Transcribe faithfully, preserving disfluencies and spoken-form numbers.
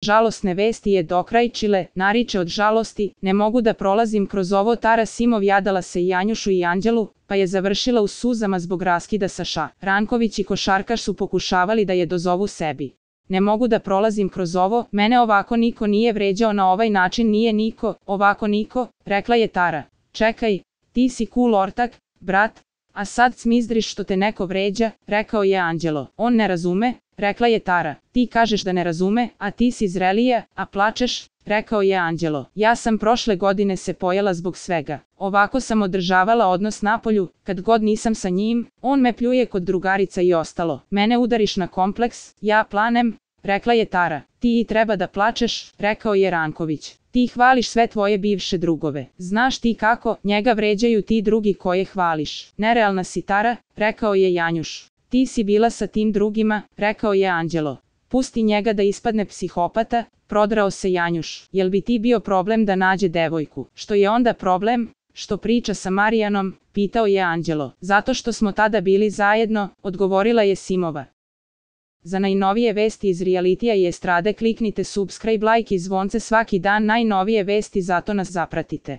Žalosne vesti je dokrajčile, nariče od žalosti, ne mogu da prolazim kroz ovo. Tara Simov jadala se i Janjušu i Anđelu, pa je završila u suzama zbog raskida sa Ša. Ranković i košarkaš su pokušavali da je dozovu sebi. Ne mogu da prolazim kroz ovo, mene ovako niko nije vređao na ovaj način, nije niko, ovako niko, rekla je Tara. Čekaj, ti si cool ortak, brat, a sad cmizdriš što te neko vređa, rekao je Anđelo. On ne razume, rekla je Tara. Ti kažeš da ne razume, a ti si zrelija, a plačeš, rekao je Anđelo. Ja sam prošle godine se pojela zbog svega. Ovako sam održavala odnos napolju, kad god nisam sa njim, on me pljuje kod drugarica i ostalo. Mene udariš na kompleks, ja planem, rekla je Tara. Ti i treba da plačeš, rekao je Ranković. Ti hvališ sve tvoje bivše drugove. Znaš ti kako, njega vređaju ti drugi koje hvališ. Nerealna si, Tara, rekao je Janjuš. Ti si bila sa tim drugima, rekao je Anđelo. Pusti njega da ispadne psihopata, prodrao se Janjuš. Jel bi ti bio problem da nađe devojku? Što je onda problem? Što priča sa Marijanom, pitao je Anđelo. Zato što smo tada bili zajedno, odgovorila je Simova. Za najnovije vesti iz realitija i estrade kliknite subscribe, like i zvonce svaki dan, najnovije vesti, zato nas zapratite.